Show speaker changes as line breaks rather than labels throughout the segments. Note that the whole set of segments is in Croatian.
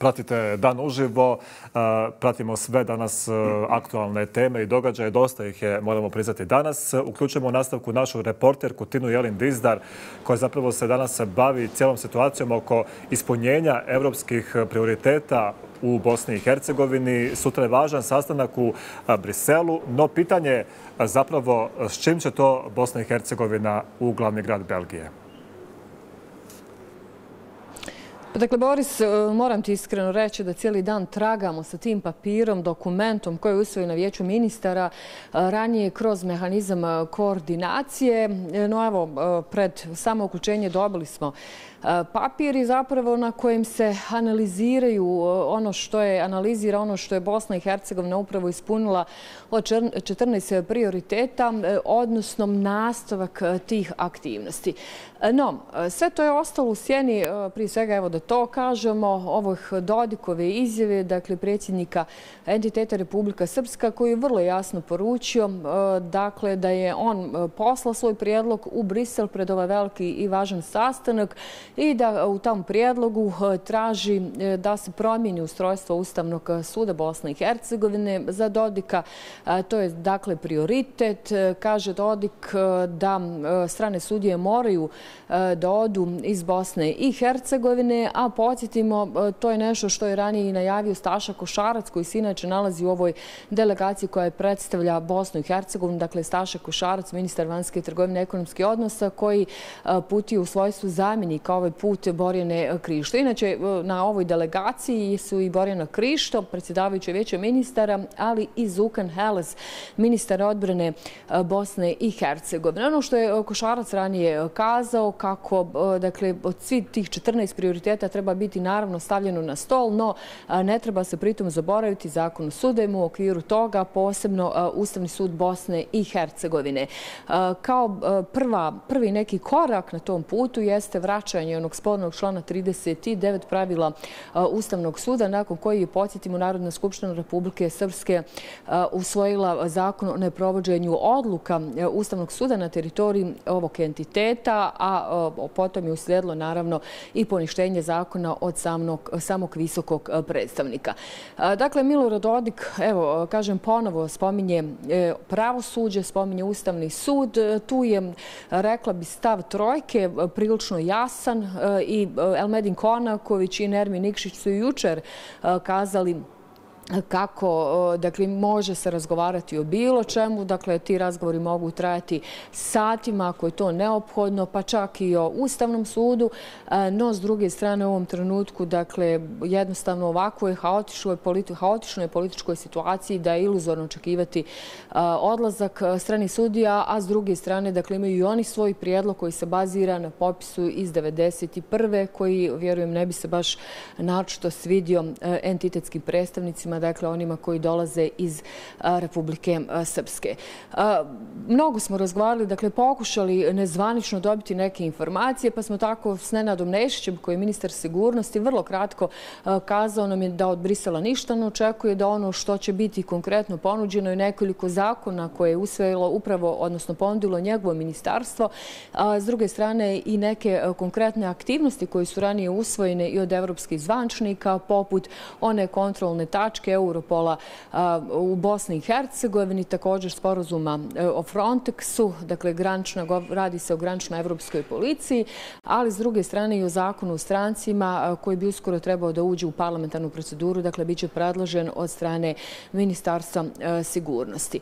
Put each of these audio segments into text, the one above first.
Pratite Dan uživo, pratimo sve danas aktualne teme i događaje. Dosta ih je, moramo priznati, danas. Uključujemo u nastavku našu reporterku Tinu Jelin Dizdar, koja zapravo se danas bavi cijelom situacijom oko ispunjenja evropskih prioriteta u Bosni i Hercegovini. Sutra je važan sastanak u Briselu, no pitanje je zapravo s čim će to Bosna i Hercegovina u glavni grad Belgije.
Dakle, Boris, moram ti iskreno reći da cijeli dan tragamo sa tim papirom, dokumentom koji je usvojen na Vijeću ministara ranije kroz mehanizam koordinacije. No evo, pred samo uključenje dobili smo papir i zapravo na kojem se analizira ono što je Bosna i Hercegovina upravo ispunila od 14 prioriteta, odnosno nastavak tih aktivnosti. No, sve to je ostalo u sjeni, prije svega evo da to kažemo, ovih Dodikove izjave, dakle predsjednika entiteta Republika Srpska, koji je vrlo jasno poručio dakle da je on poslao svoj prijedlog u Brisel pred ovaj veliki i važan sastanak i da u tom prijedlogu traži da se promijeni ustrojstvo Ustavnog suda Bosne i Hercegovine za Dodika. To je dakle prioritet. Kaže Dodik da strane sudije moraju da odu iz Bosne i Hercegovine, a podsjetimo, to je nešto što je ranije i najavio Staša Košarac, koji se inače nalazi u ovoj delegaciji koja predstavlja Bosnu i Hercegovinu. Dakle, Staša Košarac, ministar vanjske trgovine i ekonomskih odnosa, koji putuje u svojstvu zamjenika ovaj put Borjane Krišto. Inače, na ovoj delegaciji su i Borjana Krišto, predsjedavajuća Vijeća ministara, ali i Zukan Heles, ministar odbrane Bosne i Hercegovine. Ono što je Košarac ranije kazao, kako dakle, od svih tih 14 prioriteta treba biti naravno stavljeno na stol, no ne treba se pritom zaboraviti Zakon o sudovima, u okviru toga posebno Ustavni sud Bosne i Hercegovine. Kao prvi neki korak na tom putu jeste vraćanje onog spornog člana 39 pravila Ustavnog suda, nakon koji je, podsjetimo, Narodna skupština Republike Srpske usvojila zakon o neprovođenju odluka Ustavnog suda na teritoriji ovog entiteta, a potom je uslijedilo naravno i poništenje zakona od samog visokog predstavnika. Dakle, Milorad Dodik, evo, kažem ponovo, spominje pravosuđe, spominje Ustavni sud. Tu je, rekla bi, stav trojke prilično jasan i Elmedin Konaković i Nermin Nikšić su jučer kazali kako, dakle, može se razgovarati o bilo čemu. Dakle, ti razgovori mogu trajati satima ako je to neophodno, pa čak i o Ustavnom sudu. No, s druge strane, u ovom trenutku, dakle, jednostavno ovakvoj haotičnoj političkoj situaciji da je iluzorno očekivati odlazak stranih sudija, a s druge strane, dakle, imaju i oni svoj prijedlog koji se bazira na popisu iz 1991. koji, vjerujem, ne bi se baš naročito svidio entitetskim predstavnicima, dakle onima koji dolaze iz Republike Srpske. Mnogo smo razgovarali, dakle pokušali nezvanično dobiti neke informacije, pa smo tako s Nenadom Nešićem, koji je ministar sigurnosti, vrlo kratko kazao nam je da od Brisela ništa ne očekuje, da ono što će biti konkretno ponuđeno je nekoliko zakona koje je usvojilo upravo, odnosno ponudilo njegovo ministarstvo. S druge strane i neke konkretne aktivnosti koje su ranije usvojene i od evropskih zvančnika, poput one kontrolne tačke Europola u Bosni i Hercegovini, također sporazuma o Frontexu, dakle radi se o graničnoj evropskoj policiji, ali s druge strane i o zakonu o strancima koji bi uskoro trebao da uđe u parlamentarnu proceduru, dakle bit će predložen od strane Ministarstva sigurnosti.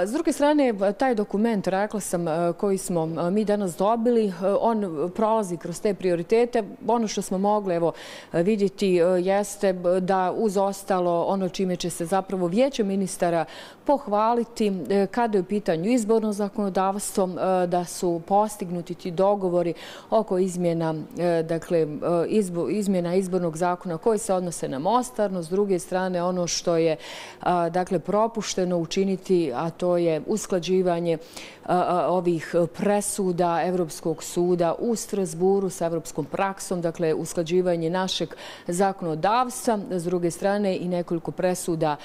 S druge strane, taj dokument, rekla sam, koji smo mi danas dobili, on prolazi kroz te prioritete. Ono što smo mogli vidjeti jeste da uz ostalo ono čime će se zapravo Vijeće ministara pohvaliti kada je u pitanju izborno zakonodavstvo, da su postignuti ti dogovori oko izmjena izbornog zakona koji se odnose na Mostar. S druge strane, ono što je propušteno učiniti, a to je usklađivanje ovih presuda Evropskog suda u Strasburu sa evropskom praksom, dakle usklađivanje našeg zakonodavstva. S druge strane i nekoliko nekoliko presuda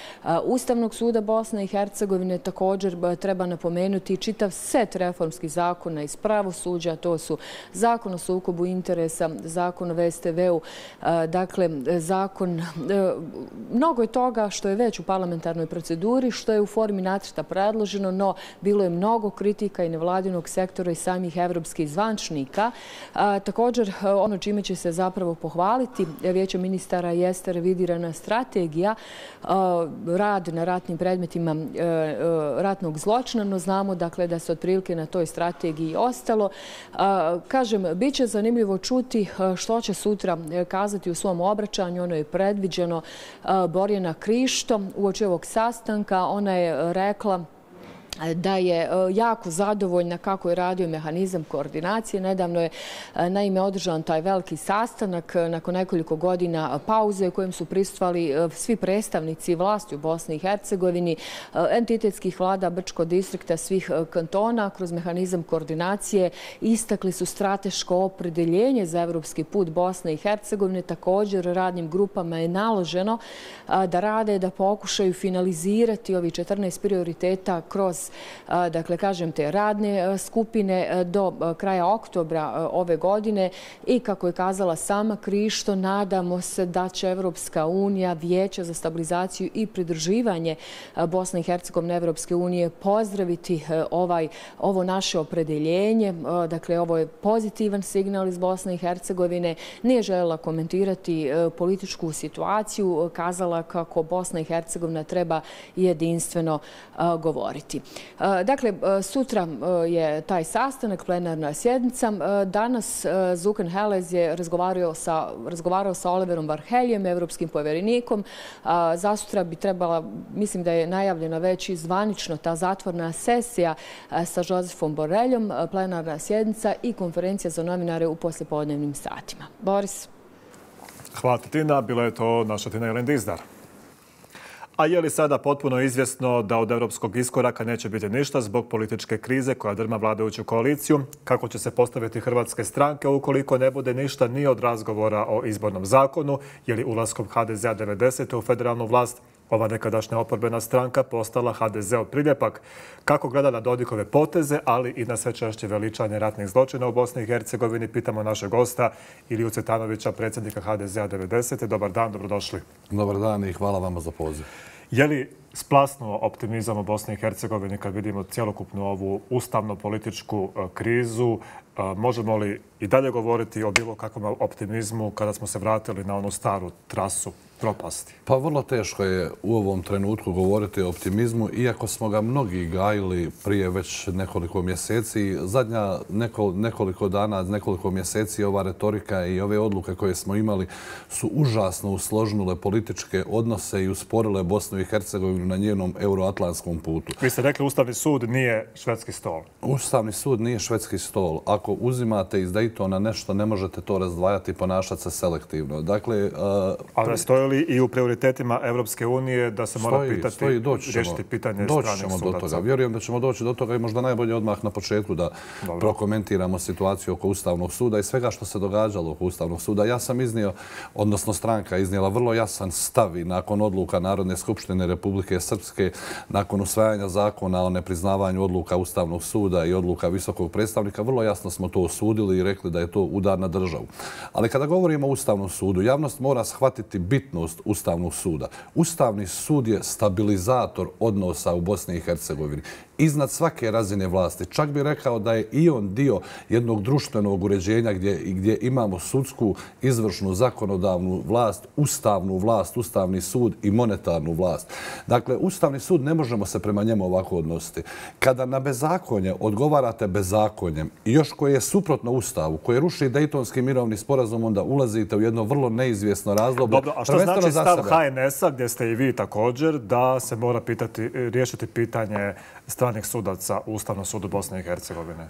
Ustavnog suda Bosne i Hercegovine. Također treba napomenuti čitav set reformskih zakona iz pravosuđa. To su zakon o sukobu interesa, zakon o VSTV-u, dakle zakon, mnogo je toga što je već u parlamentarnoj proceduri, što je u formi nacrta predloženo, no bilo je mnogo kritika i nevladinog sektora i samih evropskih zvančnika. Također, ono čime će se zapravo pohvaliti Vijeće ministara jeste revidirana strategija, rad na ratnim predmetima ratnog zločina, no znamo dakle da se otprilike na toj strategiji ostalo. Kažem, bit će zanimljivo čuti što će sutra kazati u svom obraćanju. Ono je predviđeno Borjana Krišto uoči ovog sastanka. Ona je rekla da je jako zadovoljna kako je radio mehanizam koordinacije. Nedavno je naime održan taj veliki sastanak nakon nekoliko godina pauze u kojem su prisustvovali svi predstavnici vlasti u Bosni i Hercegovini, entitetskih vlada Brčkog distrikta, svih kantona. Kroz mehanizam koordinacije istakli su strateško opredeljenje za evropski put Bosne i Hercegovine. Također radnim grupama je naloženo da rade, da pokušaju finalizirati ovih 14 prioriteta kroz, dakle, kažem, te radne skupine do kraja oktobra ove godine. I kako je kazala sama Krišto, nadamo se da će Evropska unija, Vijeće za stabilizaciju i pridruživanje Bosne i Hercegovine Evropske unije pozdraviti ovo naše opredeljenje. Dakle, ovo je pozitivan signal iz Bosne i Hercegovine. Nije željela komentirati političku situaciju, kazala kako Bosna i Hercegovina treba jedinstveno govoriti. Dakle, sutra je taj sastanak, plenarna sjednica. Danas Zukan Helez je razgovarao sa Oliverom Varheljem, evropskim povjerenikom. Zasutra bi trebala, mislim da je najavljena već i zvanično ta zatvorna sesija sa Josefom Borreljom, plenarna sjednica i konferencija za novinare u poslijepodnevnim satima. Boris.
Hvala ti, Tina. Bila je to naša Tina Jelen Dizdar. A je li sada potpuno izvjesno da od europskog iskoraka neće biti ništa zbog političke krize koja drma vladajuću koaliciju? Kako će se postaviti hrvatske stranke ukoliko ne bude ništa ni od razgovora o izbornom zakonu? Je li ulaskom HDZ-a 90. u federalnu vlast ova nekadašnja oporbena stranka postala HDZ-ov priljepak? Kako gleda na Dodikove poteze, ali i na sve češće veličanje ratnih zločina u Bosni i Hercegovini, pitamo našeg gosta Iliju Cvetanovića, predsjednika HDZ-a 90. Dobar dan, dobrodošli.
Dobar dan i hvala vama za poziv.
Je li splasnuo optimizam u Bosni i Hercegovini kad vidimo cjelokupnu ovu ustavno-političku krizu? Možemo li i dalje govoriti o bilo kakvom optimizmu kada smo se vratili na onu staru trasu propasti?
Pa vrlo teško je u ovom trenutku govoriti o optimizmu, iako smo ga mnogi gajili prije već nekoliko mjeseci. Zadnja nekoliko dana, nekoliko mjeseci ova retorika i ove odluke koje smo imali su užasno usložnule političke odnose i usporile Bosnu i Hercegovinu na njenom euroatlantskom putu.
Vi ste rekli Ustavni sud nije švedski stol.
Ustavni sud nije švedski stol. Ako uzimate iz Daytona nešto, ne možete to razdvajati i ponašati se selektivno. Dakle,
ali stoji li i u prioritetima Evropske unije da se mora riješiti pitanje stranih sudaca?
Vjerujem da ćemo doći do toga i možda najbolje odmah na početku da prokomentiramo situaciju oko Ustavnog suda i svega što se događalo oko Ustavnog suda. Ja sam iznio, odnosno stranka iznijela vrlo jasan stav i nakon odluka Narodne skupštine Republike Srpske, nakon usvajanja zakona o nepriznavanju odluka Ustavnog suda i odluka visokog predstavnika, vrlo jasno smo to osudili i rekli da je to udar na državu. Ali kada govorimo o Ustavnom sudu, javnost mora shvatiti bitnost Ustavnog suda. Ustavni sud je stabilizator odnosa u Bosni i Hercegovini. Iznad svake razine vlasti. Čak bih rekao da je i on dio jednog društvenog uređenja gdje imamo sudsku, izvršnu, zakonodavnu vlast, ustavnu vlast, Ustavni sud i monetarnu vlast. Dakle, Ustavni sud ne možemo se prema njemu ovako odnositi. Kada na bezakonje odgovarate bezakonjem i još koje je suprotno Ustavu, koje ruši Dejtonski mirovni sporazum, onda ulazite u jedno vrlo neizvjesno razdoblje.
Dobro, a što znači stav HNS-a, gdje ste i vi također, da se mora riješiti pitanje stranih sudaca u Ustavnom sudu Bosne i Hercegovine?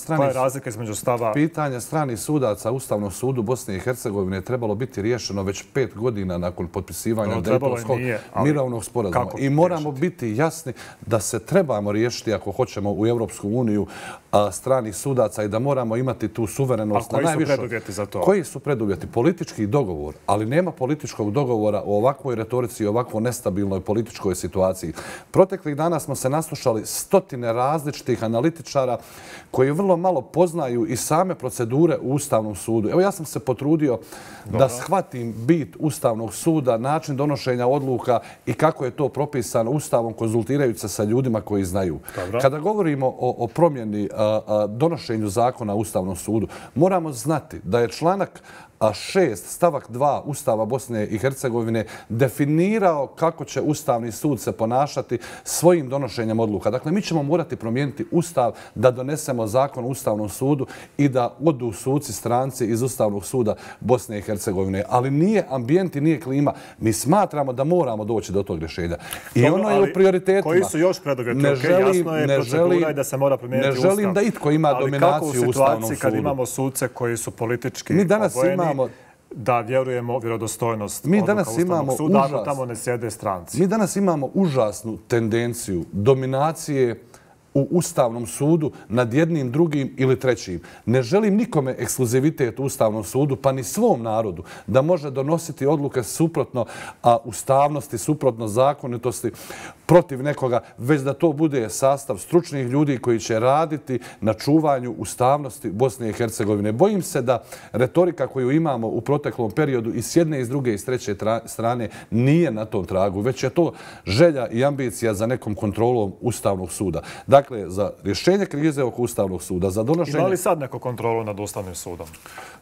Koja je razlika između stava?
Pitanje stranih sudaca u Ustavnom sudu Bosne i Hercegovine je trebalo biti riješeno već 5 godina nakon potpisivanja Dejtonskog mirovnog sporazuma. I moramo biti jasni da se trebamo riješiti ako hoćemo u Europsku uniju stranih sudaca i da moramo imati tu suverenost.
A koji su preduvjeti za to?
Koji su preduvjeti? Politički dogovor, ali nema političkog dogovora o ovakvoj retorici i ovakvo nestabilnoj političkoj situaciji. Proteklih dana smo se naslušali stotine različitih analitičara koji vrlo malo poznaju i same procedure u Ustavnom sudu. Evo ja sam se potrudio da shvatim bit Ustavnog suda, način donošenja odluka i kako je to propisano Ustavom, konzultirajući se sa ljudima koji znaju. Kada govorimo o promjeni donošenju zakona u Ustavnom sudu, moramo znati da je članak 6 stavak 2 Ustava Bosne i Hercegovine definirao kako će Ustavni sud se ponašati svojim donošenjem odluka. Dakle, mi ćemo morati promijeniti Ustav da donesemo zakon o Ustavnom sudu i da odu suci stranci iz Ustavnog suda Bosne i Hercegovine. Ali nije ambijent i nije klima. Mi smatramo da moramo doći do tog rješenja. I ono je u prioritetima.
Koji su još preduvjeti? Jasno je procedura i da se mora promijeniti Ustav.
Ne želim da itko ima dominaciju u Ustavnom sudu.
Ali kako u situaciji kad imamo suce koji su politički obojeni, da vjerujemo vjerodostojnost odluka Ustavnog suda, ako tamo ne sjede stranci?
Mi danas imamo užasnu tendenciju dominacije u Ustavnom sudu nad jednim, drugim ili trećim. Ne želim nikome ekskluzivitet u Ustavnom sudu, pa ni svom narodu, da može donositi odluke suprotno ustavnosti, suprotno zakonitosti, protiv nekoga, već da to bude sastav stručnih ljudi koji će raditi na čuvanju ustavnosti Bosne i Hercegovine. Bojim se da retorika koju imamo u proteklom periodu i s jedne i s druge i s treće strane nije na tom tragu, već je to želja i ambicija za nekom kontrolom Ustavnog suda. Dakle, za rješenje krize oko Ustavnog suda, za donošenje...
Ima li sad neku kontrolu nad Ustavnim sudom?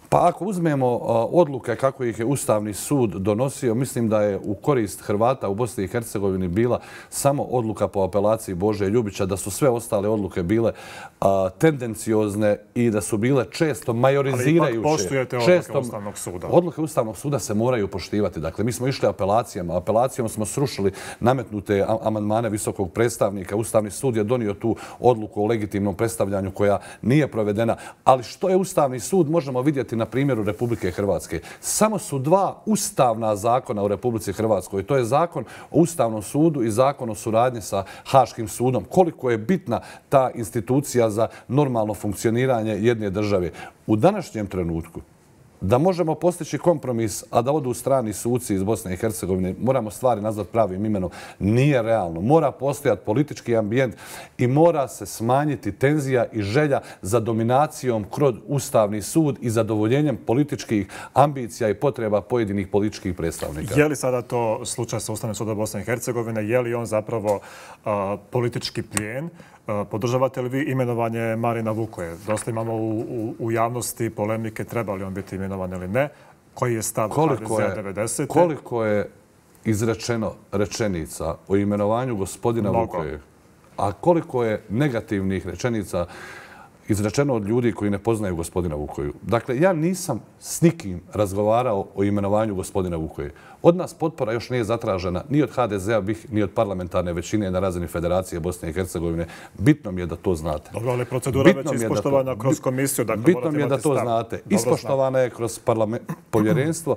Pa ako uzmemo odluke kako ih je Ustavni sud donosio, mislim da je u korist Hrvata u Bosni i Hercegovini bila samo odluka po apelaciji Bože Ljubića, da su sve ostale odluke bile tendenciozne i da su bile često majorizirajuće.
Ali ipak poštujete odluke Ustavnog suda?
Odluke Ustavnog suda se moraju poštivati. Dakle, mi smo išli apelacijama. Apelacijom smo srušili nametnute amandmane visokog predstavnika. Ustavni sud je donio tu odluku o legitimnom predstavljanju koja nije provedena. Ali što je Ustavni sud možemo vidjeti na primjeru Republike Hrvatske. Samo su dva ustavna zakona u Republici Hrvatskoj. To je zakon o Ustavnom sudu i zakon o suradnji sa Haškim sudom. Koliko je bitna ta institucija za normalno funkcioniranje jedne države. U današnjem trenutku da možemo postići kompromis, a da odu strani suci iz Bosne i Hercegovine, moramo stvari nazvati pravim imenom, nije realno. Mora postojati politički ambijent i mora se smanjiti tenzija i želja za dominacijom kroz Ustavni sud i zadovoljenjem političkih ambicija i potreba pojedinih političkih predstavnika.
Je li sada to slučaj sa Ustavnim sudom Bosne i Hercegovine? Je li on zapravo politički plijen? Podržavate li vi imenovanje Marina Vukoje? Dosta imamo u javnosti polemike treba li on biti imenovan ili ne. Koji je stav HDZ-a 90.
Koliko je izrečeno rečenica o imenovanju gospodina Vukoje, a koliko je negativnih rečenica izrečeno od ljudi koji ne poznaju gospodina Vukoju. Dakle, ja nisam s nikim razgovarao o imenovanju gospodina Vukoje. Od nas potpora još nije zatražena ni od HDZ-a, ni od parlamentarne većine na razini Federacije Bosne i Hercegovine. Bitno mi je da to znate.
Dobro, ali procedura već ispoštovana kroz komisiju.
Bitno mi je da to znate. Ispoštovana je kroz povjerenstvo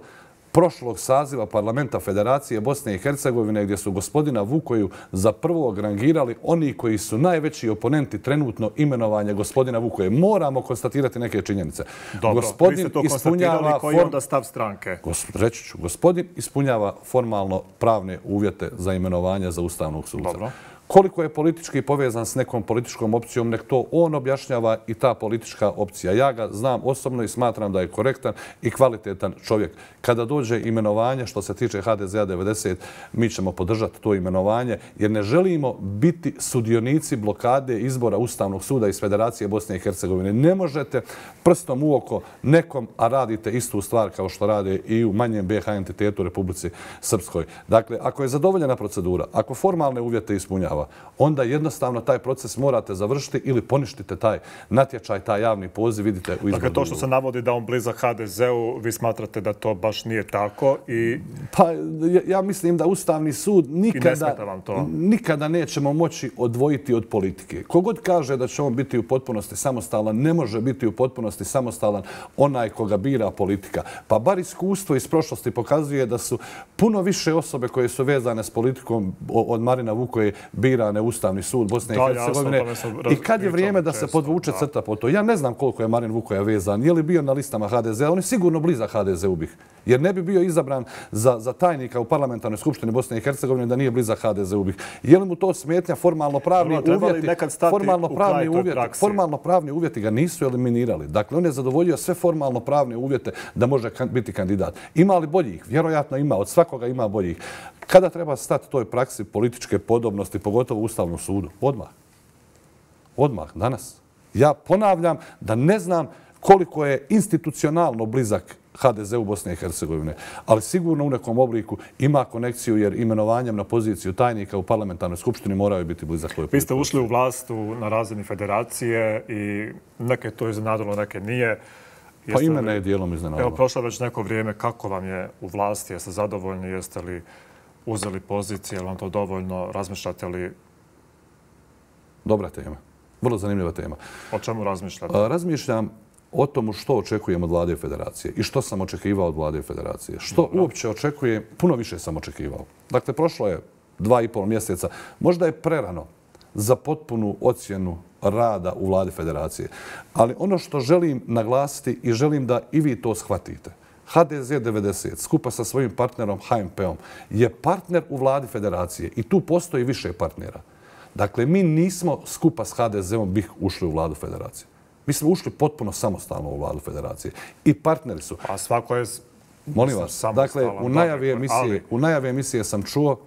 prošlog saziva parlamenta Federacije Bosne i Hercegovine gdje su gospodina Vukoju za prvog rangirali oni koji su najveći oponenti trenutno imenovanja gospodina Vukoje. Moramo konstatirati neke činjenice.
Dobro, vi ste to konstatirali. Koji je onda stav stranke?
Reći ću, gospodin ispunjava formalno pravne uvjete za imenovanje za Ustavnog suda.
Dobro.
Koliko je politički povezan s nekom političkom opcijom, nek to on objašnjava i ta politička opcija. Ja ga znam osobno i smatram da je korektan i kvalitetan čovjek. Kada dođe imenovanje, što se tiče HDZ-a 90, mi ćemo podržati to imenovanje jer ne želimo biti sudionici blokade izbora Ustavnog suda iz Federacije Bosne i Hercegovine. Ne možete prstom u oko nekom, a radite istu stvar kao što rade i u manjem BiH entitetu u Republici Srpskoj. Dakle, ako je zadovoljena procedura, ako formalne uvjete ispunjava, onda jednostavno taj proces morate završiti ili poništite taj natječaj, taj javni poziv, vidite u izboru.
Dakle, to što se navodi da on blizak HDZ-u, vi smatrate da to baš nije tako i...
Pa ja mislim da Ustavni sud nikada nećemo moći odvojiti od politike. Kogod kaže da će on biti u potpunosti samostalan, ne može biti u potpunosti samostalan onaj koga bira politika. Pa bar iskustvo iz prošlosti pokazuje da su puno više osobe koje su vezane s politikom od Marina Vukoje birane Ustavni sud Bosne i Hercegovine. I kad je vrijeme da se podvuče crta po to? Ja ne znam koliko je Marin Vukoja vezan, je li bio na listama HDZ-a, on je sigurno blizak HDZ-u bih. Jer ne bi bio izabran za tajnika u parlamentarnoj skupštini Bosne i Hercegovine da nije blizak HDZ-u bih. Je li mu to smetnja formalno-pravni uvjeti? Formalno-pravni uvjeti ga nisu eliminirali. Dakle, on je zadovoljio sve formalno-pravne uvjete da može biti kandidat. Ima li boljih? Vjerojatno ima. Od svakoga ima boljih. Kada treba stati toj praksi političke podobnosti, pogotovo u Ustavnom sudu? Odmah. Odmah, danas. Ja ponavljam da ne znam koliko je institucionalno blizak HDZ-u Bosne i Hercegovine, ali sigurno u nekom obliku ima konekciju jer imenovanjem na poziciju tajnika u parlamentarnoj skupštini moraju biti blizak.
Vi ste ušli u vlast na razini federacije i neke to iznenadilo, neke nije.
Pa i mene je dijelom iznenadilo.
Evo, prošlo već neko vrijeme. Kako vam je u vlasti? Jeste zadovoljni? Jeste li uzeli pozicije? Je li vam to dovoljno? Razmišljate li?
Dobra tema. Vrlo zanimljiva tema.
O čemu razmišljate?
Razmišljam o tomu što očekujem od Vlade Federacije i što sam očekivao od Vlade Federacije. Što uopće očekujem, puno više sam očekivao. Dakle, prošlo je 2,5 mjeseca. Možda je prerano za potpunu ocjenu rada u Vladi Federacije. Ali ono što želim naglasiti i želim da i vi to shvatite. HDZ 90 skupa sa svojim partnerom HMP-om je partner u Vladi Federacije i tu postoji više partnera. Dakle, mi nismo skupa s HDZ-om bih ušli u Vladu Federacije. Mi smo ušli potpuno samostalno u Vladu Federacije. I partneri su.
A svako je
molim vas, dakle, u najavi emisije sam čuo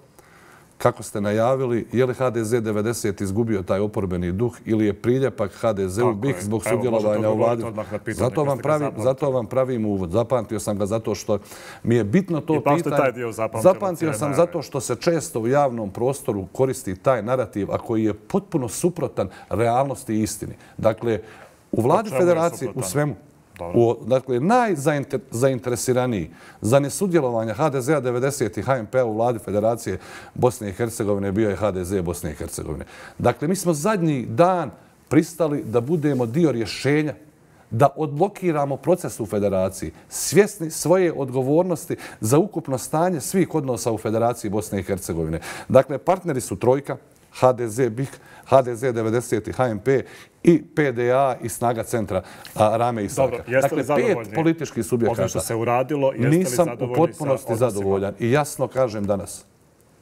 kako ste najavili je li HDZ 90 izgubio taj oporbeni duh ili je priljepak HDZ-u BiH zbog sudjelovanja u Vladi. Zato vam pravim uvod. Zapamtio sam ga zato što mi je bitno to pitanje. Zapamtio sam zato što se često u javnom prostoru koristi taj narativ, a koji je potpuno suprotan realnosti i istini. Dakle, u Vladi Federacije, u svemu, dakle, najzainteresiraniji za nesudjelovanje HDZ-a 90 i HMP-a u Vladi Federacije Bosne i Hercegovine bio je HDZ Bosne i Hercegovine. Dakle, mi smo zadnji dan pristali da budemo dio rješenja, da odblokiramo proces u Federaciji, svjesni svoje odgovornosti za ukupno stanje svih odnosa u Federaciji Bosne i Hercegovine. Dakle, partneri su trojka, HDZ BiH, HDZ 90 i HMP i PDA i Snaga centra Rame i Saka. Dakle, 5 političkih subjekata.
Ovo što se uradilo, jeste li
nisam u potpunosti zadovoljan i jasno kažem danas.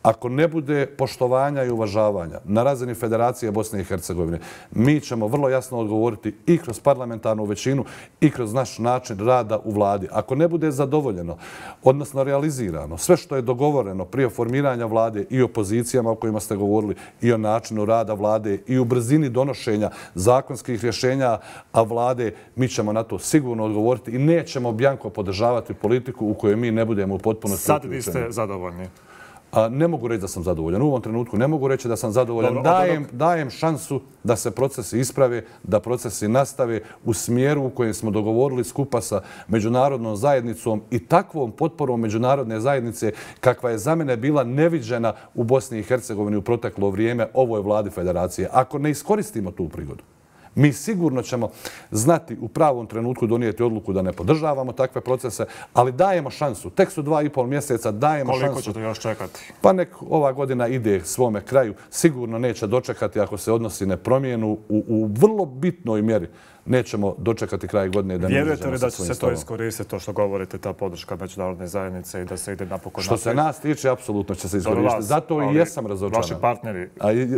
Ako ne bude poštovanja i uvažavanja na razini Federacije Bosne i Hercegovine, mi ćemo vrlo jasno odgovoriti i kroz parlamentarnu većinu i kroz naš način rada u vladi. Ako ne bude zadovoljeno, odnosno realizirano, sve što je dogovoreno prije formiranja vlade i o pozicijama o kojima ste govorili i o načinu rada vlade i u brzini donošenja zakonskih rješenja vlade, mi ćemo na to sigurno odgovoriti i nećemo bjanko podržavati politiku u kojoj mi ne budemo u potpunosti
uključeni. Sad vi ste zadovoljni?
Ne mogu reći da sam zadovoljan. U ovom trenutku ne mogu reći da sam zadovoljan. Dajem šansu da se procesi isprave, da procesi nastave u smjeru u kojem smo dogovorili skupa sa međunarodnom zajednicom i takvom potporom međunarodne zajednice kakva je za mene bila neviđena u Bosni i Hercegovini u proteklo vrijeme ovoj Vladi Federacije. Ako ne iskoristimo tu prigodu, mi sigurno ćemo znati u pravom trenutku donijeti odluku da ne podržavamo takve procese, ali dajemo šansu. Tek su 2,5 mjeseca, dajemo šansu.
Koliko ćete još čekati?
Pa nek ova godina ide svome kraju. Sigurno neće dočekati ako se odnosi ne promijenu u vrlo bitnoj mjeri. Nećemo dočekati kraj godine da ne izađemo sa svojim stavom.
Vjerujete li da će se to iskoristiti, to što govorite, ta podrška međunarodne zajednice i da se ide napokon naprijed?
Što se nas tiče, apsolutno će se iskoristiti. Zato i jesam razočaran.
Vaši partneri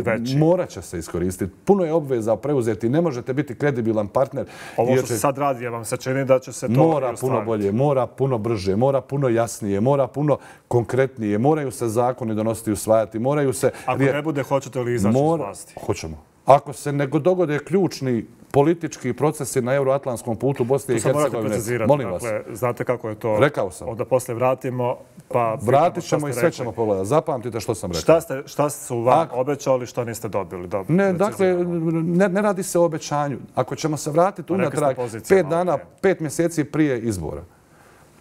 veći?
Morat će se iskoristiti. Puno je obveza preuzeti. Ne možete biti kredibilan partner.
Ovo što se sad radi, vam se čini da će se to
mora puno bolje, mora puno brže, mora puno jasnije, mora puno konkretnije. Moraju se zakoni donositi i usvajati. Moraju se...
Ako ne bude, hoćete li izaći iz vlasti?
Hoćemo. Ako se ne dogode ključni politički procesi na euroatlantskom putu Bosne i Hercegovine.
To se morate precizirati.
Molim vas.
Dakle, znate kako je to?
Rekao sam.
Onda poslije vratimo, pa...
Vratit ćemo i sve ćemo pogledati. Zapamtite što sam rekao.
Šta su vam obećali, što niste dobili?
Ne, dakle, ne radi se o obećanju. Ako ćemo se vratiti unatrag 5 mjeseci prije izbora.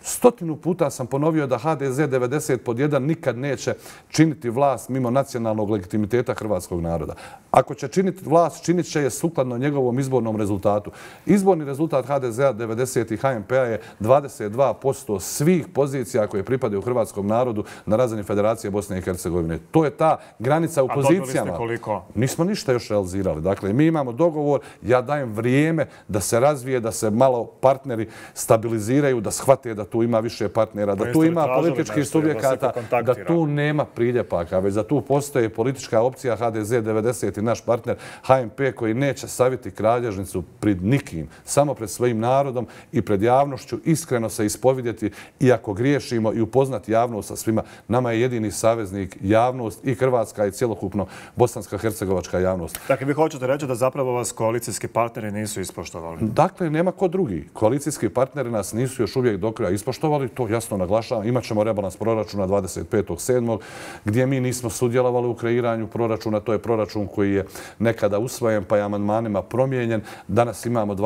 100 puta sam ponovio da HDZ 90/1 nikad neće činiti vlast mimo nacionalnog legitimiteta hrvatskog naroda. Ako će činiti vlast, činit će je sukladno njegovom izbornom rezultatu. Izborni rezultat HDZ-a 90 i HMP-a je 22% svih pozicija koje pripadaju hrvatskom narodu na razini Federacije Bosne i Hercegovine. To je ta granica u pozicijama.
A dobili ste koliko?
Nismo ništa još realizirali. Dakle, mi imamo dogovor, ja dajem vrijeme da se razvije, da se malo partneri stabiliziraju, da shvate da tu ima više partnera, da tu ima političkih subjekata, da tu nema priljepaka, već da tu postoje politička opcija HDZ 90 i naš partner HMP koji neće saviti kralježnicu pred nikim, samo pred svojim narodom i pred javnošću, iskreno se ispovidjeti i ako griješimo i upoznati javnost sa svima. Nama je jedini saveznik javnost i hrvatska i cjelokupno bosanska-hercegovačka javnost.
Dakle, vi hoćete reći da zapravo vas koalicijski partneri nisu ispoštovali?
Dakle, nema ko drugi. Koalicijski partneri nas nisu još uvijek do kraja ispoštovali, to jasno naglašavam. Imaćemo rebalans proračuna 25.7. gdje mi nismo sudjelovali u kreiranju proračuna. To je proračun koji je nekada usvojen pa je amandmanima promijenjen. Danas imamo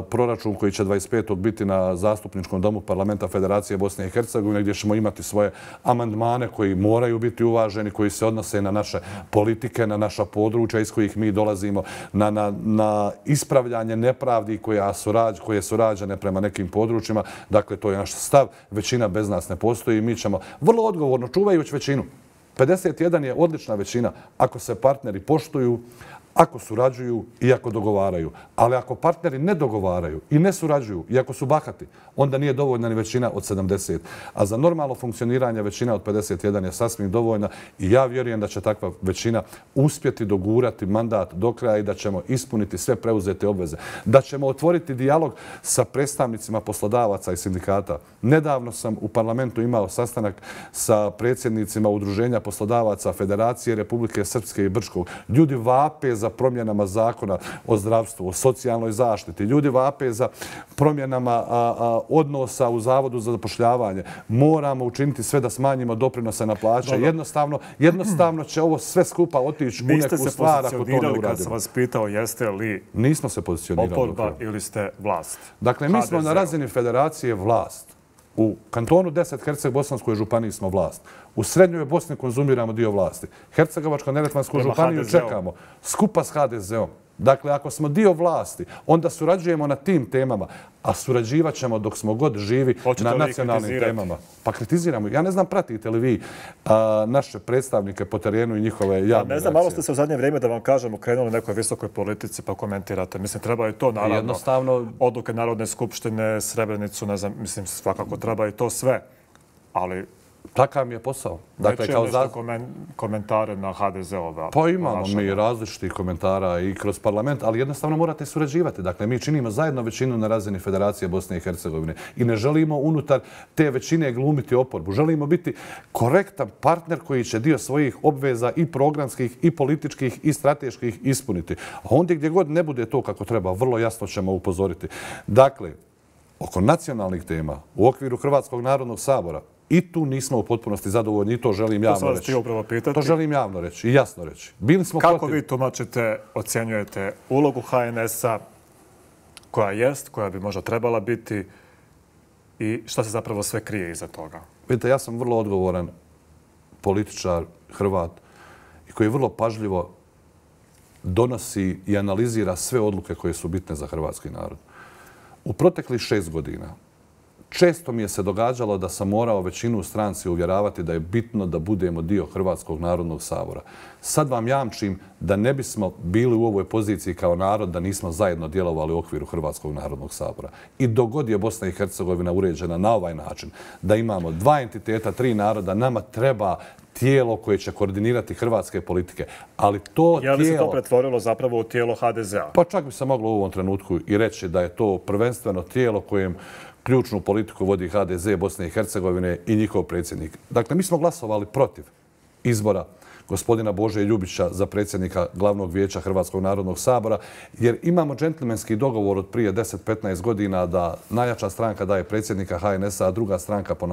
proračun koji će 25. biti na zastupničkom domu Parlamenta Federacije Bosne i Hercegovine gdje ćemo imati svoje amandmane koji moraju biti uvaženi, koji se odnose na naše politike, na naša područja iz kojih mi dolazimo, na ispravljanje nepravdi koje su rađene prema nekim područjima. Dakle, to je naš stav. Većina bez nas ne postoji i mi ćemo vrlo odgovorno, čuvajući većinu. 51 je odlična većina ako se partneri poštuju, ako surađuju i ako dogovaraju. Ali ako partneri ne dogovaraju i ne surađuju i ako su bahati, onda nije dovoljna ni većina od 70. A za normalno funkcioniranje većina od 51 je sasvim dovoljna i ja vjerujem da će takva većina uspjeti dogurati mandat do kraja i da ćemo ispuniti sve preuzete obveze. Da ćemo otvoriti dijalog sa predstavnicima poslodavaca i sindikata. Nedavno sam u parlamentu imao sastanak sa predsjednicima Udruženja poslodavaca Federacije Republike Srpske i Brčkog. Ljudi vape za promjenama zakona o zdravstvu, o socijalnoj zaštiti. Ljudi vape za promjenama odnosa u Zavodu za zapošljavanje. Moramo učiniti sve da smanjimo doprinose na plaće. Jednostavno će ovo sve skupa otići u neku stvar ako to ne uradimo.
Kad sam vas pitao jeste li
nismo se pozicionirali
oporba ili ste vlast?
Dakle, mi smo na razini Federacije vlast. U kantonu 10 Herceg-Bosanskoj županiji smo vlast. U srednjoj Bosni konzumiramo dio vlasti. Hercegovačko-neretvansku županiju čekamo skupa s HDZ-om. Dakle, ako smo dio vlasti, onda surađujemo na tim temama, a surađivat ćemo dok smo god živi na nacionalnim temama. Pa kritiziramo. Ja ne znam, pratite li vi naše predstavnike po terenu i njihove javne reakcije?
Ne znam, malo ste se u zadnje vrijeme, da vam kažemo, krenuli u nekoj visokoj politici pa komentirate. Mislim, treba i to, naravno, odluke Narodne skupštine, Srebrenicu, ne znam, mislim, svakako treba i to sve. Ali
takav mi je posao.
Dakle, kao nešto komentare na HDZ-ova.
Pa imamo mi različitih komentara i kroz parlament, ali jednostavno morate surađivati. Dakle, mi činimo zajedno većinu na razini Federacije Bosne i Hercegovine i ne želimo unutar te većine glumiti oporbu. Želimo biti korektan partner koji će dio svojih obveza i programskih, i političkih, i strateških ispuniti. A ondje gdje god ne bude to kako treba, vrlo jasno ćemo upozoriti. Dakle, oko nacionalnih tema u okviru Hrvatskog narodnog sabora i tu nismo u potpunosti zadovoljni i to želim javno reći. To želim javno reći i jasno reći.
Kako vi tumačite, ocjenjujete ulogu HNS-a koja jest, koja bi možda trebala biti i šta se zapravo sve krije iza toga?
Vidite, ja sam vrlo odgovoran političar, Hrvat i koji vrlo pažljivo donosi i analizira sve odluke koje su bitne za hrvatski narod. U proteklih 6 godina često mi je se događalo da sam morao većinu u stranci uvjeravati da je bitno da budemo dio Hrvatskog narodnog sabora. Sad vam jamčim da ne bismo bili u ovoj poziciji kao narod da nismo zajedno djelovali u okviru Hrvatskog narodnog sabora. I dok god je Bosna i Hercegovina uređena na ovaj način, da imamo 2 entiteta, 3 naroda, nama treba tijelo koje će koordinirati hrvatske politike. Ali to
tijelo... Je li se to pretvorilo zapravo u tijelo HDZ-a?
Pa čak bi se moglo u ovom trenutku i reći da je to prvenstveno tijelo kojem ključnu politiku vodi HDZ Bosne i Hercegovine i njihov predsjednik. Dakle, mi smo glasovali protiv izbora gospodina Bože Ljubića za predsjednika Glavnog vijeća Hrvatskog narodnog sabora, jer imamo džentlmenski dogovor od prije 10-15 godina da najjača stranka daje predsjednika HNS-a, a druga stranka po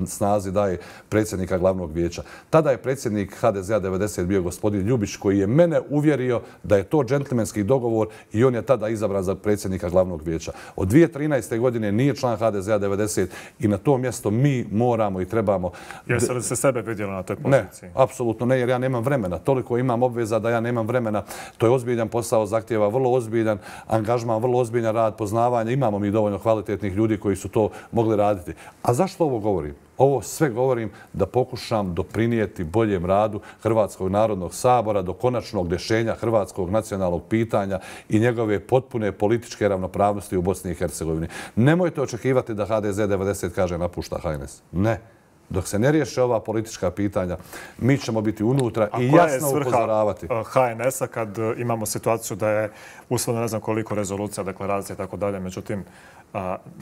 snazi daje predsjednika Glavnog vijeća. Tada je predsjednik HDZ-a 90 bio gospodin Ljubić, koji je mene uvjerio da je to džentlmenski dogovor i on je tada izabran za predsjednika Glavnog vijeća. Od 2013. godine nije član HDZ-a 90 i na to mjesto mi moramo i trebamo...
Jeste li se sebe vidjeli na toj poziciji?
Ne, apsolutno ne, jer ja nemam vremena. Toliko imam obveza da ja nemam vremena. To je ozbiljan posao, zahtjeva vrlo ozbiljan angažman, vrlo ozbiljan rad, poznavanje. Imamo mi dovoljno kvalitetnih ljudi koji su to mogli raditi. A zašto ovo govorim? Ovo sve govorim da pokušam doprinijeti boljem radu Hrvatskog narodnog sabora do konačnog rješenja hrvatskog nacionalnog pitanja i njegove potpune političke ravnopravnosti u Bosni i Hercegovini. Nemojte očekivati da HDZ 90 kaže napušta HNS. Ne. Dok se ne riješe ova politička pitanja, mi ćemo biti unutra i jasno upozoravati.
A koja je svrha HNS-a kad imamo situaciju da je usvojeno ne znam koliko rezolucija, deklaracija i tako dalje, međutim,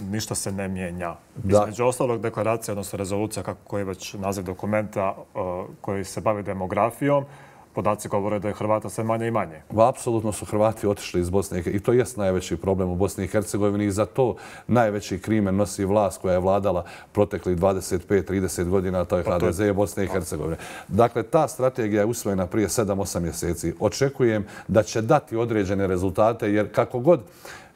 ništa se ne mijenja. Između ostalog deklaracija, odnosno rezolucija, kako je već naziv dokumenta koji se bavi demografijom, podaci govore da je Hrvata sve manje i manje.
Apsolutno su Hrvati otišli iz Bosne i to jest najveći problem u Bosni i Hercegovini i za to najveći krimen nosi vlast koja je vladala proteklih 25-30 godina, a to je HDZ i Bosne i Hercegovine. Dakle, ta strategija je usvojena prije 7-8 mjeseci. Očekujem da će dati određene rezultate, jer kako god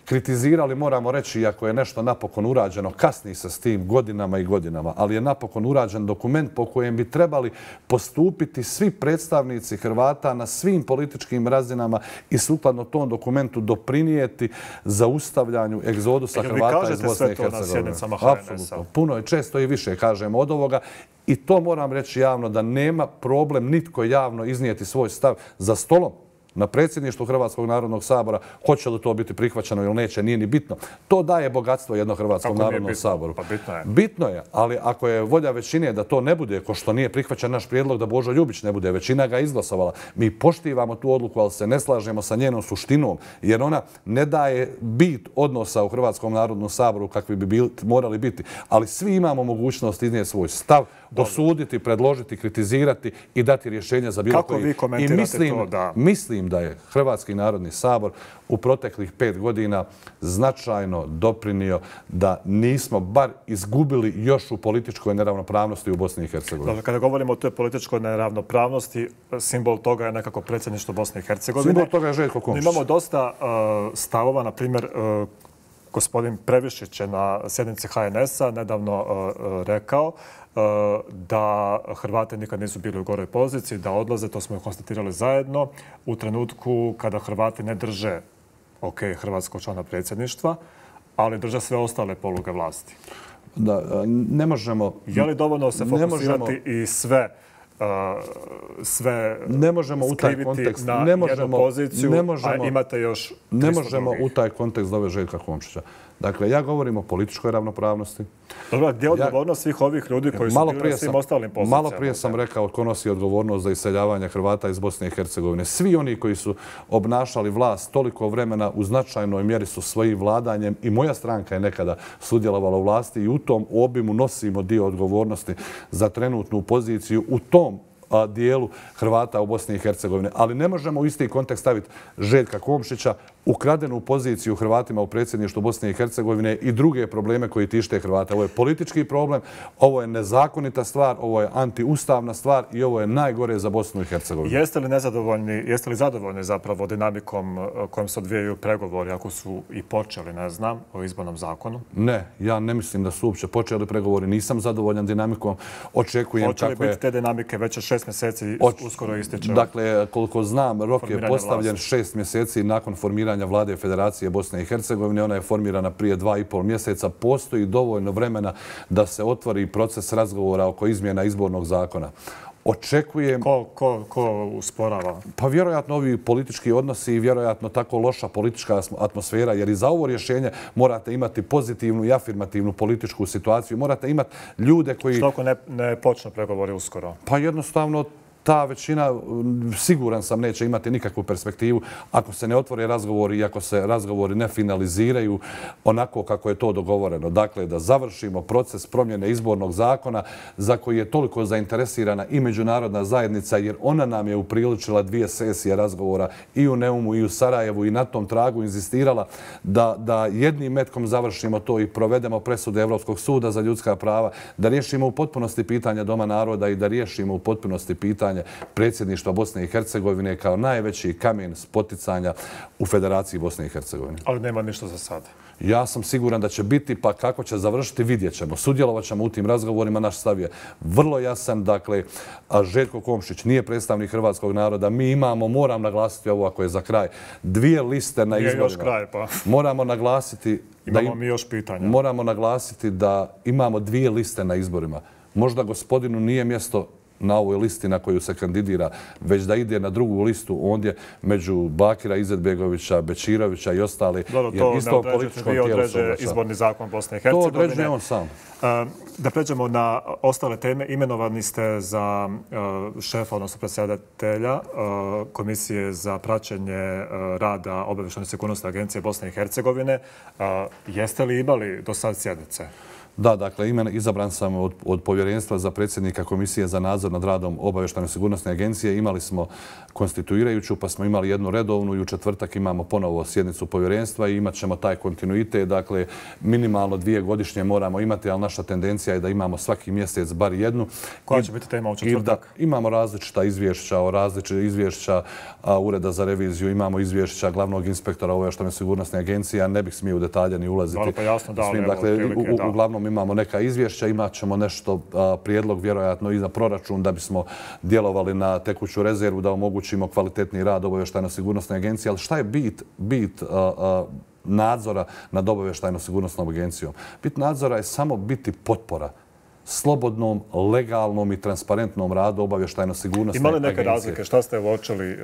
kritizirali, moramo reći, iako je nešto napokon urađeno, kasni se s tim godinama i godinama, ali je napokon urađen dokument po kojem bi trebali postupiti svi predstavnici Hrvata na svim političkim razinama i sukladno tom dokumentu doprinijeti zaustavljanju egzodusa Hrvata iz Bosne i Hercegovine.
Vi kažete sve to na sjednicama HNS-a?
Apsolutno. Puno je, često i više kažemo od ovoga. I to moram reći javno, da nema problem nitko javno iznijeti svoj stav za stolom na predsjedništvu Hrvatskog narodnog sabora. Hoće li to biti prihvaćeno ili neće, nije ni bitno. To daje bogatstvo jednom Hrvatskom narodnom saboru.
Pa bitno je.
Bitno je, ali ako je volja većine da to ne bude, ko što nije prihvaćen naš prijedlog da Božo Ljubić ne bude, većina ga izglasovala. Mi poštivamo tu odluku, ali se ne slažemo sa njenom suštinom, jer ona ne daje bit odnosa u Hrvatskom narodnom saboru kakvi bi morali biti. Ali svi imamo mogućnost iznijeti svoj stav, osuditi, predložiti, kritizirati i dati rješenja za bilo koji.
Kako vi komentirate to da...
Mislim da je Hrvatski narodni sabor u proteklih 5 godina značajno doprinio da nismo bar izgubili još u političkoj neravnopravnosti u Bosni i Hercegovini.
Dakle, kada govorimo o toj političkoj neravnopravnosti, simbol toga je nekako predsjedništvo Bosne i Hercegovine.
Simbol toga je Željko Komšić.
Imamo dosta stavova, na primjer, gospodin Previšić je na sjednici HNS-a nedavno rekao da Hrvati nikad nisu bili u goroj poziciji, da odlaze, to smo konstatirali zajedno, u trenutku kada Hrvati ne drže hrvatskog člana predsjedništva, ali drže sve ostale poluge vlasti.
Da, ne možemo...
Je li dovoljno se fokusirati i sve
ne možemo u taj kontekst,
na jednu poziciju, a imate još 300 drugih?
Ne možemo u taj kontekst dovesti Željka Komšića. Dakle, ja govorim o političkoj ravnopravnosti.
Dobro, gdje je odgovornost svih ovih ljudi koji su bili na svim ostalim pozicijama?
Malo prije sam rekao ko nosi odgovornost za iseljavanje Hrvata iz Bosne i Hercegovine. Svi oni koji su obnašali vlast toliko vremena u značajnoj mjeri su svojim vladanjem, i moja stranka je nekada sudjelovala u vlasti, i u tom obimu nosimo dio odgovornosti za trenutnu poziciju u tom dijelu Hrvata u Bosni i Hercegovini. Ali ne možemo u isti kontekst staviti Željka Komšića, ukradenu poziciju Hrvatima u predsjedništvu Bosne i Hercegovine i druge probleme koji tište Hrvata. Ovo je politički problem, ovo je nezakonita stvar, ovo je antiustavna stvar i ovo je najgore za Bosnu i Hercegovinu.
Jeste li zadovoljni zapravo dinamikom kojom se odvijaju pregovori, ako su i počeli, ne znam, o izbornom zakonu?
Ne, ja ne mislim da su uopće počeli pregovori. Nisam zadovoljan dinamikom. Očekujem
kako je... Hoće li biti te dinamike već 6 mjeseci uskoro ističe?
Dakle, koliko znam, rok je postavljen 6 mjeseci nakon formiranja vlade Federacije Bosne i Hercegovine. Ona je formirana prije 2,5 mjeseca. Postoji dovoljno vremena da se otvori proces razgovora oko izmjena izbornog zakona. Očekujem...
Ko usporava?
Pa vjerojatno ovi politički odnosi i vjerojatno tako loša politička atmosfera, jer i za ovo rješenje morate imati pozitivnu i afirmativnu političku situaciju. Morate imati ljude koji...
Što ako ne počnu pregovori uskoro?
Pa jednostavno ta većina, siguran sam, neće imati nikakvu perspektivu ako se ne otvore razgovori i ako se razgovori ne finaliziraju onako kako je to dogovoreno. Dakle, da završimo proces promjene izbornog zakona za koji je toliko zainteresirana i međunarodna zajednica, jer ona nam je upriličila 2 sesije razgovora i u Neumu i u Sarajevu i na tom tragu inzistirala da jednim metkom završimo to i provedemo presude Evropskog suda za ljudska prava, da riješimo u potpunosti pitanja Doma naroda i da riješimo u potpunosti pitanje predsjedništva Bosne i Hercegovine kao najveći kamen spoticanja u Federaciji Bosne i Hercegovine.
Ali nema ništa za sada.
Ja sam siguran da će biti, pa kako će završiti, vidjet ćemo. Sudjelovat ćemo u tim razgovorima. Naš stav je vrlo jasan. Dakle, Željko Komšić nije predstavnik hrvatskog naroda. Mi imamo, moram naglasiti ovo ako je za kraj, 2 liste na izborima.
Nije još kraj, pa.
Moramo naglasiti...
Imamo mi još pitanja.
Moramo naglasiti da imamo 2 liste na izborima. Možda gospodinu nije mjesto na ovoj listi na koju se kandidira, već da ide na drugu listu ondje među Bakira Izetbegovića, Bečirovića i ostali.
Dobro, to ne određuje izborni zakon Bosne i Hercegovine.
To određuje on sam.
Da pređemo na ostale teme. Imenovani ste za šefa, odnosno predsjedatelja Komisije za praćenje rada Obavještajne sigurnosne agencije Bosne i Hercegovine. Jeste li imali do sad sjednice?
Da, dakle, izabran sam od povjerenstva za predsjednika Komisije za nadzor nad radom Obavještajne sigurnosne agencije. Imali smo konstituirajuću, pa smo imali jednu redovnu i u četvrtak imamo ponovo sjednicu povjerenstva i imat ćemo taj kontinuitet. Dakle, minimalno 2 godišnje moramo imati, ali naša tendencija je da imamo svaki mjesec bar jednu.
Koja će biti tema u četvrtak?
Imamo različita izvješća Ureda za reviziju, imamo izvješća glavnog inspektora Obavještajne sigurnosne agencije, a ne bih smio u detalje ni ulaziti. Uglavnom imamo neka izvješća, imat ćemo nešto prijedlog vjerojatno i za proračun da bismo djelovali na tekuću rezervu, da omogućimo kvalitetni rad Obavještajno sigurnosne agencije. Ali šta je bit nadzora nad Obavještajno sigurnosnom agencijom? Bit nadzora je samo biti potpora slobodnom, legalnom i transparentnom radu Obavještajno sigurnosne agencije.
Ima li neke razlike? Šta ste uočili?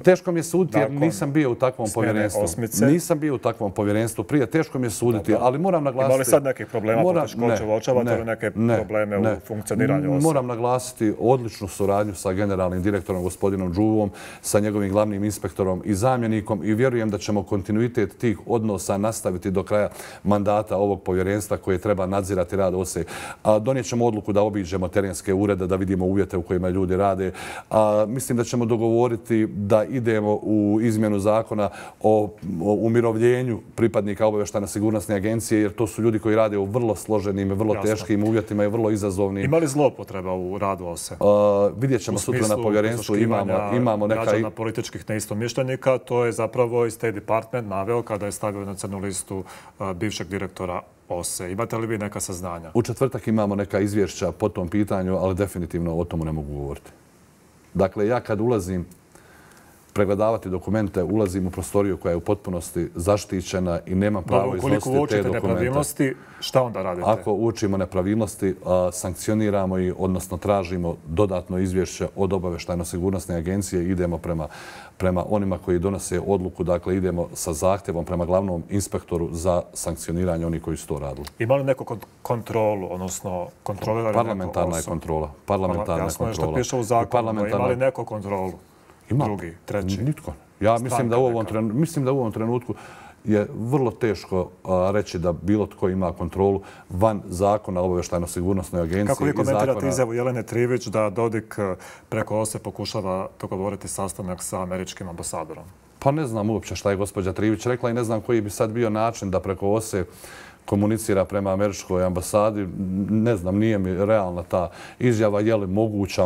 Teško mi je suditi jer nisam bio u takvom povjerenstvu. Nisam bio u takvom povjerenstvu prije. Teško mi je suditi, ali moram naglasiti...
Ima li sad nekih problema, poteškoća, uočavate li neke probleme u funkcioniranju osoba?
Moram naglasiti odličnu suradnju sa generalnim direktorom gospodinom Đuvom, sa njegovim glavnim inspektorom i zamjenikom i vjerujem da ćemo kontinuitet tih odnosa nastaviti do kraja mandata ovog povjerenstva koje treba nadzirati rad OSE. Donijet ćemo odluku da obiđemo terenske urede, da vidimo uvjete u kojima ljudi rade. Mislim da ćemo dogovoriti da idemo u izmjenu zakona o umirovljenju pripadnika Obavještajne sigurnosne agencije, jer to su ljudi koji rade u vrlo složenim i vrlo teškim uvjetima i vrlo izazovnim.
Ima li zlopotreba u radu OSE?
Vidjet ćemo sutra na povjerenstvu. Imamo neka...
građana političkih neistomišljenika. To je zapravo i State Department naveo kada je stavio na crnu listu bivšeg direktora OSE. Imate li vi neka saznanja?
U četvrtak imamo neka izvješća po tom pitanju, ali definitivno o tomu ne mogu govoriti. Dakle, ja kad ulazim pregledavati dokumente, ulazim u prostoriju koja je u potpunosti zaštićena i nemam pravo iznositi te dokumente.
Ukoliko uočite nepravilnosti, šta onda radite?
Ako uočimo nepravilnosti, sankcioniramo i, odnosno tražimo dodatno izvješće od Obavještajno sigurnosne agencije i idemo prema onima koji donose odluku. Dakle, idemo sa zahtjevom prema glavnom inspektoru za sankcioniranje onih koji su to radili.
Ima li neku kontrolu, odnosno kontrolira li
parlamentarna je kontrola.
Jasno je što piše u zakonu, ima li neku kontrolu? Drugi, treći.
Nitko. Ja mislim da u ovom trenutku je vrlo teško reći da bilo tko ima kontrolu van zakona o Obavještajno sigurnosnoj agenciji.
Kako vi komentirate izjavu Jelene Trivić da Dodik preko OSE pokušava dogovoriti sastanak sa američkim ambasadorom?
Pa ne znam uopće šta je gospođa Trivić rekla i ne znam koji bi sad bio način da preko OSE komunicira prema američkoj ambasadi. Ne znam, nije mi realna ta izjava. Je li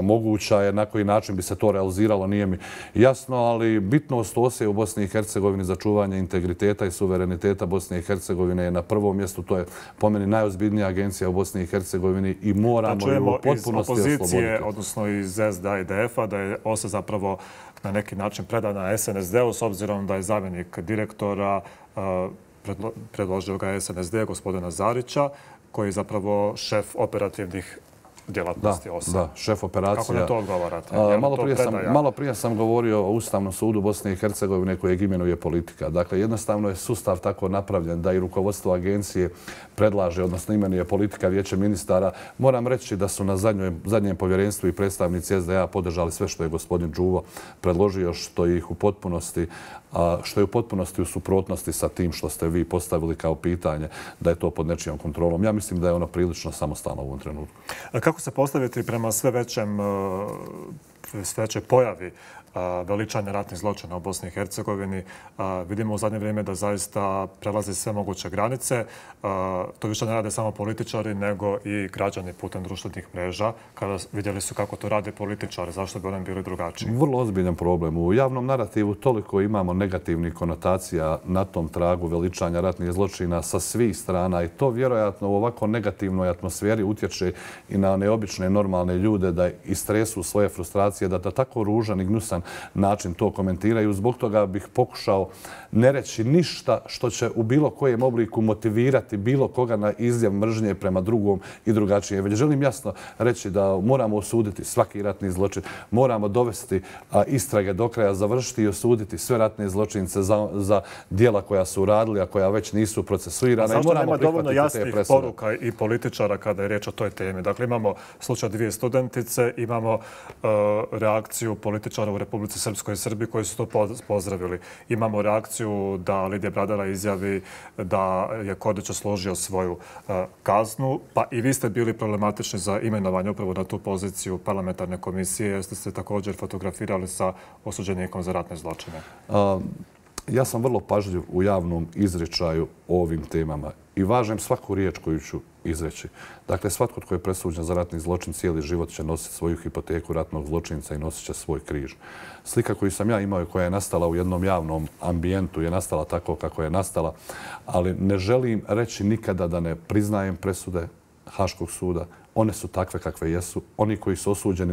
moguća je, na koji način bi se to realiziralo, nije mi jasno, ali bitnost OSE u Bosni i Hercegovini za čuvanje integriteta i suvereniteta Bosne i Hercegovine je na prvom mjestu. To je po meni najozbiljnija agencija u Bosni i Hercegovini i moramo ju u potpunosti osloboditi.
Iz opozicije, odnosno iz SDA i DF-a, da je OSE zapravo na neki način predana SNSD-u s obzirom da je zamjenik direktora predložio ga SNSD, gospodina Zarića, koji je zapravo šef operativnih djelatnosti OSA.
Da, šef operacija.
Kako na to odgovarate?
Malo prije sam govorio o Ustavnom sudu Bosne i Hercegovine kojeg imenuje politika. Dakle, jednostavno je sustav tako napravljen da i rukovodstvo agencije predlaže, odnosno imenuje politika, vijeće ministara. Moram reći da su na zadnjem povjerenstvu i predstavnici SDA podržali sve što je gospodin Đuvo predložio, što je u potpunosti u suprotnosti sa tim što ste vi postavili kao pitanje da je to pod nečijom kontrolom. Ja mislim da je ono prilično samostalno u ovom trenutku.
Kako se postaviti prema sve većoj pojavi veličanja ratnih zločina u Bosni i Hercegovini? Vidimo u zadnje vrijeme da zaista prelazi sve moguće granice. To više ne rade samo političari, nego i građani putem društvenih mreža. Kada vidjeli su kako to rade političari, zašto bi oni bili drugačiji?
Vrlo ozbiljan problem. U javnom narativu toliko imamo negativnih konotacija na tom tragu veličanja ratnih zločina sa svih strana i to vjerojatno u ovako negativnoj atmosferi utječe i na neobične normalne ljude da istresu svoje frustracije, da tako ružan i gnusan način to komentiraju. Zbog toga bih pokušao ne reći ništa što će u bilo kojem obliku motivirati bilo koga na izljev mržnje prema drugom i drugačije. Već želim jasno reći da moramo osuditi svaki ratni zločin, moramo dovesti istrage do kraja, završiti i osuditi sve ratne zločince za djela koja su uradili, a koja već nisu procesuirana.
Zašto nema dovoljno jasnih poruka i političara kada je riječ o toj temi? Dakle, imamo slučaj 2 studentice, imamo reakciju političara u Republici Srpskoj i Srbiji koji su to pozdravili. Imamo reakciju da Lidija Bradara izjavi da je Kodić osložio svoju kaznu, pa i vi ste bili problematični za imenovanje upravo na tu poziciju parlamentarne komisije, jer ste se također fotografirali sa osuđenikom za ratne zločine.
Ja sam vrlo pažljiv u javnom izričaju o ovim temama i važem svaku riječ koju ću izreći. Dakle, svatko tko je presuđen za ratni zločin cijeli život će nositi svoju hipoteku ratnog zločinca i nosit će svoj križ. Slika koju sam ja imao i koja je nastala u jednom javnom ambijentu je nastala tako kako je nastala, ali ne želim reći nikada da ne priznajem presude Haškog suda. One su takve kakve jesu. Oni koji su osuđeni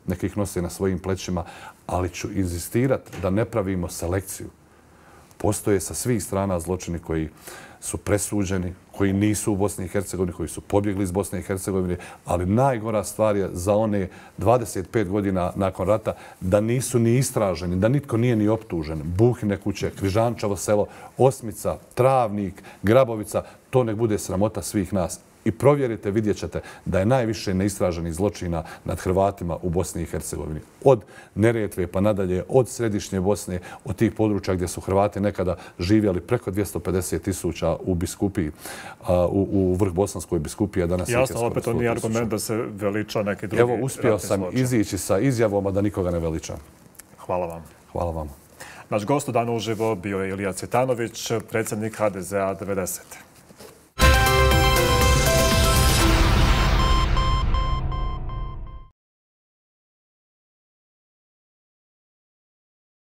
nekih nose na svojim plećima, ali ću inzistirati da ne pravimo selekciju. Postoje sa svih strana zločini koji su presuđeni, koji nisu u Bosni i Hercegovini, koji su pobjegli iz Bosne i Hercegovine, ali najgora stvar je za one 25 godina nakon rata da nisu ni istraženi, da nitko nije ni optužen. Buhine kuće, Križančevo selo, Osmica, Travnik, Grabovica, to nek bude sramota svih nas. I provjerite, vidjet ćete da je najviše neistraženih zločina nad Hrvatima u Bosni i Hercegovini. Od Neretve pa nadalje, od središnje Bosne, od tih područja gdje su Hrvati nekada živjeli preko 250.000 u biskupiji, u Vrhbosanskoj biskupiji, a danas je
jasno, opet to nije argument da se veliča neki drugi ratni zločin.
Evo, uspio sam izići sa izjavom, a da nikoga ne veličam.
Hvala vam.
Hvala vam.
Naš gost u Danu uživo bio je Ilija Cvjetanović, predsjednik HDZ-a 90.